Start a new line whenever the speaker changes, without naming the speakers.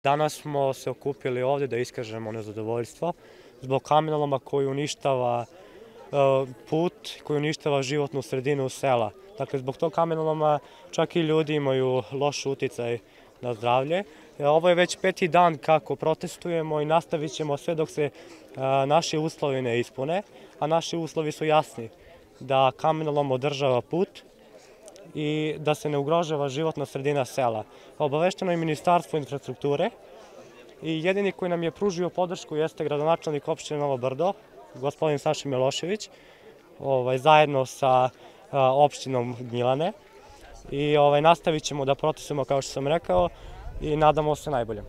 Danas smo se okupili ovdje da iskažemo nezadovoljstvo zbog kamenoloma koji uništava put, koji uništava životnu sredinu sela. Dakle, zbog tog kamenoloma čak i ljudi imaju loš uticaj na zdravlje. Ovo je već 5. dan kako protestujemo i nastavit ćemo sve dok se naši uslovi ne ispune, a naši uslovi su jasni, da kamenolom održava put i da se ne ugrožava životna sredina sela. Obavešteno je Ministarstvo infrastrukture i jedini koji nam je pružio podršku jeste gradonačelnik opštine Novo Brdo, gospodin Saša Milošević, zajedno sa opštinom Gnjilane. I nastavit ćemo da protestujemo kao što sam rekao i nadamo se najboljem.